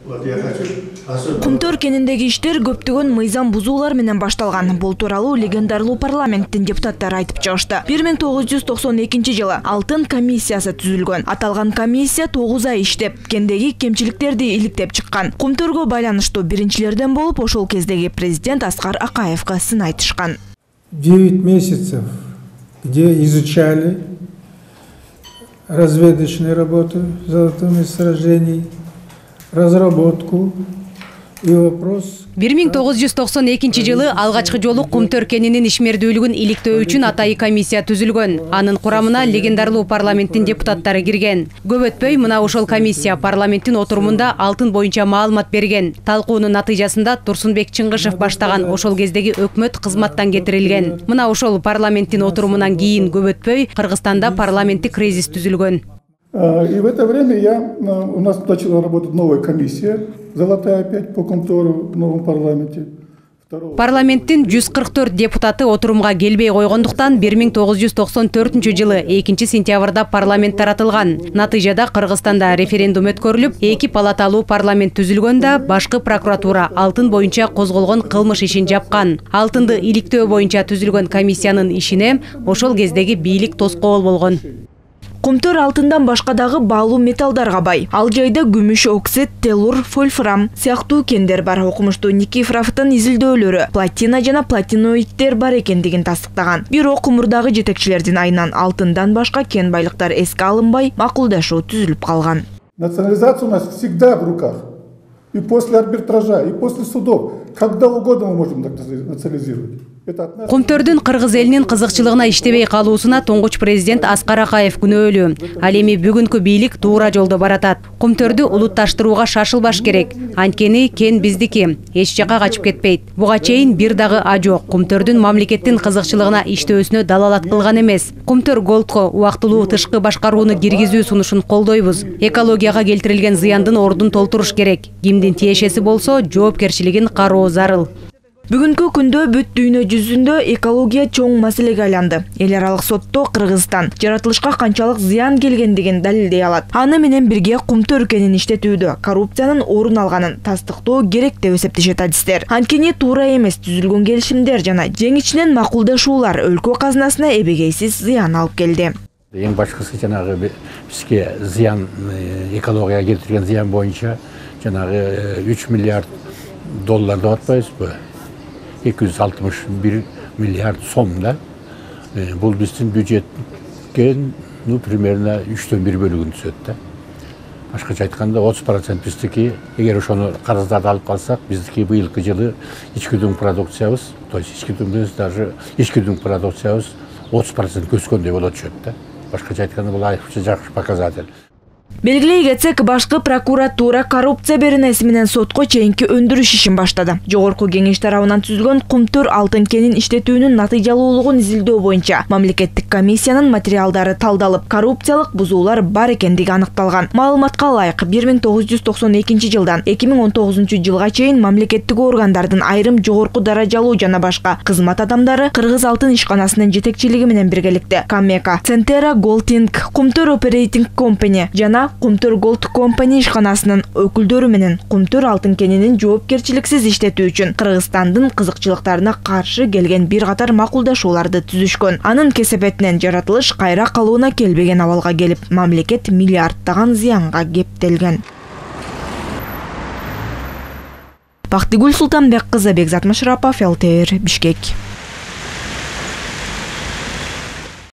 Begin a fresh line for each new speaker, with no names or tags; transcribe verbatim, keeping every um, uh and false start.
Кумтөр кениндеги иштер көптөгөн мыйзам бузуулар менен башталган. Бул тууралуу легендарлуу парламенттин депутаттары айтып чыгышты. бир миң тогуз жүз токсон экинчи жылы Алтын комиссиясы түзүлгөн. Аталган комиссия тогуз ай иштеп, кендеги кемчиликтерди иликтеп чыккан. Кумтөргө байланыштуу биринчилерден болуп, ошол кездеги президент Аскар Акаевга сын айтышкан.
девять месяцев, где изучали разведочную работу золотых месторождений, разработку и вопрос.
бир миң тогуз жүз токсон экинчи жылы алгачкы жолу Кумтөр кенинин ишмердүүлүгүн иликтөө үчүн атайы комиссия түзүлгөн. Анын курамына легендарлуу парламенттин депутаттары кирген. Көп өтпөй мына ошол комиссия парламенттин отурумунда алтын боюнча маалымат берген. Талкуунун натыйжасында Турсунбек Чыңгышев баштаган ошол кездеги өкмөт кызматтан кетирилген. Мына ошол парламенттин отурумунан кийин көп өтпөй Кыргызстанда парламенттик кризис түзүлгөн.
И в это время я, у нас начала работать новая комиссия, золотая опять по Кумтөру в новом парламенте.
Парламенттин жүз кырк төрт депутаты отурумга келбей койгондуктан бир миң тогуз жүз токсон төртүнчү жылы экинчи сентябрда парламент таратылган. Натыйжада Кыргызстанда референдум өткөрүлүп, эки палаталуу парламент түзүлгөндө башкы прокуратура алтын боюнча козголгон кылмыш ишин жапкан. Алтынды иликтөө боюнча түзүлгөн комиссиянын ишине ошол кездеги бийлик тоскоол болгон.
Кумтөр алтындан башка дагы баалуу металлдарга бай. Ал жайда күмүш, оксид, телур, вольфрам сыяктуу кендер бар. Окумуштуу Никифоровдун изилдөөлөрү платина жана платиноиддер бар экендигин тастыктаган. Бирок мурдагы жетекчилердин айынан алтындан башка кен байлыктар эске алынбай, макулдашуу түзүлүп калган.
Национализация у нас всегда в руках. И после арбитража, и после судов. Когда угодно мы можем национализировать.
Кумтөрдүн кыргыз элинин кызыкчылыгына иштебей калуусуна туңгуч президент Аскар Акаев күнөөлүү. Ал эми бүгүнкү бийлик туура жолдо баратат. Кумтөрдү улутташтырууга шашылбаш керек. Анткени кен биздики, эч жака качып кетпейт. Буга чейин бир дагы а жок. Кумтөрдүн мамлекеттин кызыкчылыгына иштөөсүнө далалат кылган эмес. Кумтөр Голдко убактылуу тышкы башкарууну киргизүү сунушун колдойбуз. Экологияга келтирилген зыяндын ордун толтуруш керек. Кимдин тиешеси болсо, жоопкерчилигин кароо зарыл.
Бүгүнкү күндө бүт дүйнө жүзүндө экология чоң маселеге айланды. Эл аралык сотто Кыргызстан жаратылышка канчалык зыян келгендигин далилдей алат. Аны менен бирге Кумтөр кенин иштетүүдө коррупциянын орун алганын тастыктоо керек деп эсептешет адистер. Анткени туура эмес түзүлгөн келишимдер жана жеңичинен макулдашуулар өлкө казынасына эбегейсиз зыян алып келди.
Эң башкысы жанагы бизге зыян, экологияга келтирген зыян боюнча жанагы үч миллиард доллар деп атпайбызбы? эки жүз алтымыш бир миллиард сомда. Бул биздин бюджетке, ну, примерно үчтөн бир бөлүгүн түзөт да. Башкача айтканда отуз процент биздики, эгер ошону карыздарды алып калсак, биздики быйылкы жылы ички продукциябыз, то есть ички дүң даже ички дүң продукциябыз отуз процент өскөндөй болот чөп да. Башкача айтканда бул айрыкча жакшы показатель.
Белгилей кетсек, башкы прокуратура коррупция беренеси менен сотко чейинки өндүрүш ишин баштады. Жогорку кеңеш тарабынан түзүлгөн Кумтөр алтын кенин иштетүүнүн натыйжалуулугун изилдөө боюнча мамлекеттик комиссиянын материалдары талдалып, коррупциялык бузуулар бар экендиги аныкталган. Маалыматка ылайык, бир миң тогуз жүз токсон экинчи жылдан эки миң он тогузунчу жылга чейин мамлекеттик органдардын айрым жогорку даражалуу жана башка кызмат адамдары Кыргыз алтын ишканасынын жетекчилиги менен биргеликте Камека, Центера Голдинг, Кумтөр Оперейтинг Компани жана Кумтөр Голд Компани ишканасынын өкүлдөрү менен Кумтөр алтын кенинин жоопкерчиликсиз иштетүү үчүн Кыргызстандын кызыкчылыктарына каршы келген бир катар макулдашууларды түзүшкөн. Анын кесепетинен жаратылыш кайра калууна келбеген абалга келип, мамлекет миллиарддаган зыянга кептелген. Бактыгүл Султанбек кызы, Бекзат Машарапов, эл тэ эр, Бишкек.